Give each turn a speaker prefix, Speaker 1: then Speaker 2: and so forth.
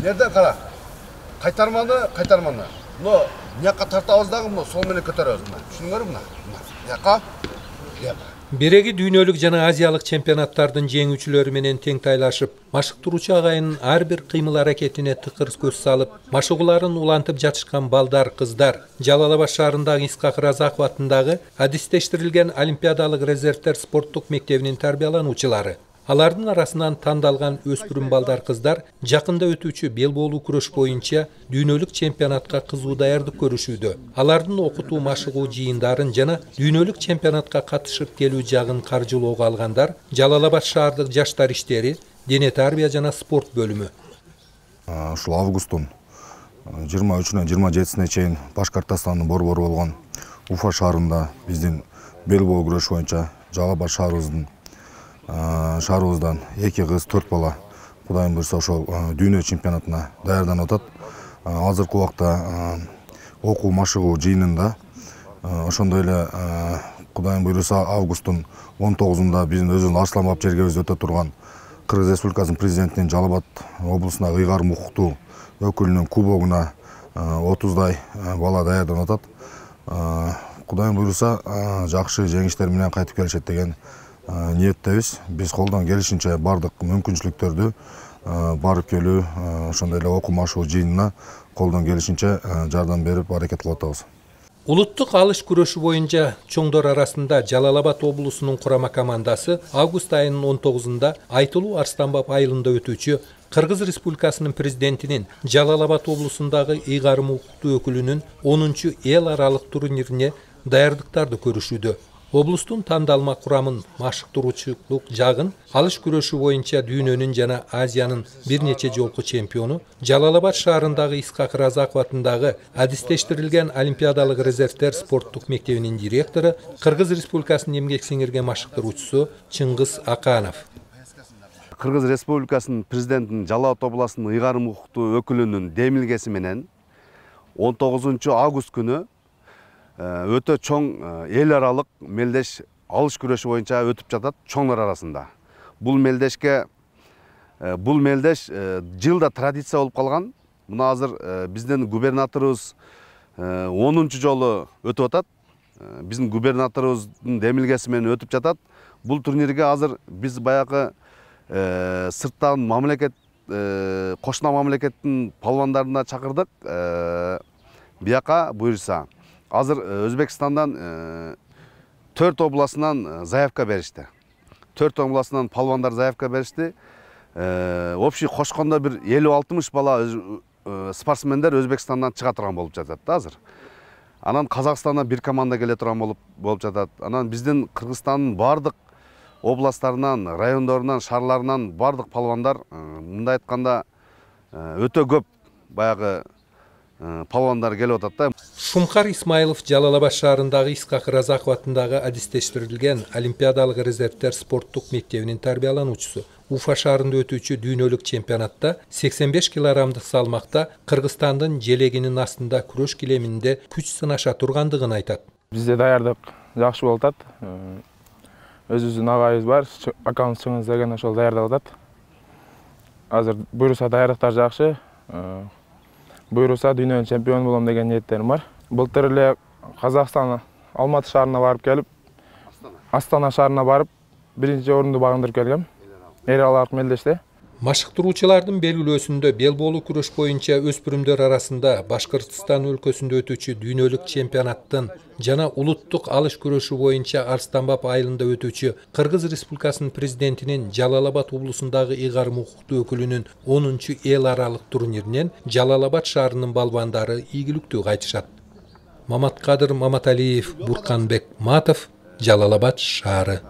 Speaker 1: Nereden kara? Kaytarmanı. No, niyaka tartağız dağım no, sol meni kötöröz mü? Şunu görüm mü? Niyaka?
Speaker 2: Береги дүйнөлүк жана азиялык чемпионаттардын жеңүүчүлөрү менен тең тайлашып, машыктыруучу агайынын ар бир кыймыл аракетине тыкыр көз салып, машыгууларын улантып жатышкан балдар, кыздар Жалал-Абад шаарындагы Исхак Разаков атындагы адистештирилген Олимпиадалык резервдер спорттук мектебинин тарбиялануучулары. Алардын арасынан тандалган өспүрүм балдар, кыздар жакында өтүүчү бел боолуу күрөш боюнча дүйнөлүк чемпионатка кызуу даярдык көрүшүүдө. Алардын окутуу машыгуу жыйындарын жана дүйнөлүк чемпионатка катышып келүү жагын каржылоого алгандар Жалал-Абад шаардык жаштар иштери, дене тарбия жана спорт бөлүмү.
Speaker 3: Ушул августтун 23-нөн 27-сине чейин Башкортостандын борбору болгон Уфа шаарында биздин бел боолуу күрөш боюнча Жалал-Абад шаарыбыздан 2 кыз 4 бала Кудайым буйрса ошол дүйнө чемпионатына даярданып атат. Азыркы убакта окуу машыгуу жыйынында ошондой эле Кудайым буйрса августтун 19-унда биздин өзүбүздүн Арсланбап жергебизде өтө турган Кыргыз Республикасынын президентинин Жалал-Абад облусундагы ыйгарым укуктуу өкүлүнүн кубогуна 30дай бала даярданып атат. Кудайым буйрса жакшы жеңиштер менен кайтып келишет деген ниеттебиз. Биз колдон келишинче бардык мүмкүнчүлүктөрдү барып келүү, ошондой эле окуу машыгуу жыйынына колдон келишинче жардам берип аракет кылып атабыз.
Speaker 2: Улуттук алыш күрөшү боюнча чоңдор арасында Жалал-Абад облусунун курама командасы август айынын 19-ында Айтылуу Арстанбап айылында өтүүчү Кыргыз Республикасынын президентинин Жалал-Абад облусундагы ыйгарым укуктуу өкүлүнүн 10-чу эл аралык турнирине даярдыктарды көрүшүүдө. Облустун тандалма курамын машыктыруучулук жагын алыш күрөшү боюнча дүйнөнүн жана Азиянын бир нече жолку чемпиону Жалал-Абад шаарындагы Исхак Разаков атындагы адистештирилген Олимпиадалык резервдер спорттук мектебинин директору, Кыргыз Республикасынын эмгек сиңирген машыктыруучусу Чыңгыз Аканов.
Speaker 4: Кыргыз Республикасынын президентинин Жалал-Абад областынын ыйгарым укуктуу өкүлүнүн демилгеси менен 19 август күнү өтө чоң эл аралык мелдеш алыш күрөшү боюнча өтүп жатат чоңдор арасында. Бул мелдеш жылда традиция болуп калган. Мына азыр биздин губернаторубуз 10-чу жолу өтүп атат. Биздин губернаторубуздун демилгеси менен өтүп жатат. Бул турнирге азыр биз баягы сырттан мамлекет кошуна мамлекеттин палвандарына чакырдык. Бияка буйрса азыр Өзбекстандан 4 областынан заявка беришти. 4 областынан палвандар заявка беришти. Общий кошкондо бир 50-60 бала спортсмендер Өзбекстандан чыга турган болуп жатат да азыр. Анан Казакстандан бир команда келе турган болуп жатат. Анан биздин Кыргызстандын бардык областтарынан, райондорунан, шаарларынан бардык палвандар мындай айтканда өтө көп баягы палвандар келип атат да.
Speaker 2: Шумкар Исмайлов Жалал-Абад шаарындагы Исхак Разаков атындагы адистештирилген Олимпиадалык резервдер спорттук мектебинин тарбиялануучусу. Уфа шаарында өтүүчү дүйнөлүк чемпионатта 85 килограммдык салмакта Кыргызстандын желегинин астында күрөш килеминде күч сынаша тургандыгын айтат.
Speaker 5: Бизде даярдык жакшы болуп атат. Өзүбүздүн агайыбыз бар, акабыз Чыңгыз деген ошол даярдап атат. Азыр буйруса даярдыктар жакшы. Буйруса дүйнөнүн чемпиону болом деген ниеттерим бар. Былтыр эле Казакстан Алматы шаарына барып келип, Астана шаарына барып, 1-орунду багындырып келгем. Эл аралык мелдеште.
Speaker 2: Машыктыруучулардын белгилөөсүндө бел боолуу күрөш боюнча өспүрүмдөр арасында Башкортостан өлкөсүндө өтүүчү дүйнөлүк чемпионаттын жана улуттук алыш күрөшү боюнча Арстанбап айылында өтүүчү Кыргыз Республикасынын президентинин Жалал-Абад облусундагы ыйгарым укуктуу өкүлүнүн 10-чу эл аралык турниринен Жалал-Абад шаарынын балбандары ийгиликтүү кайтышат. Маматкадыр Маматалиев, Бурканбек Матов, Жалал-Абад шаары.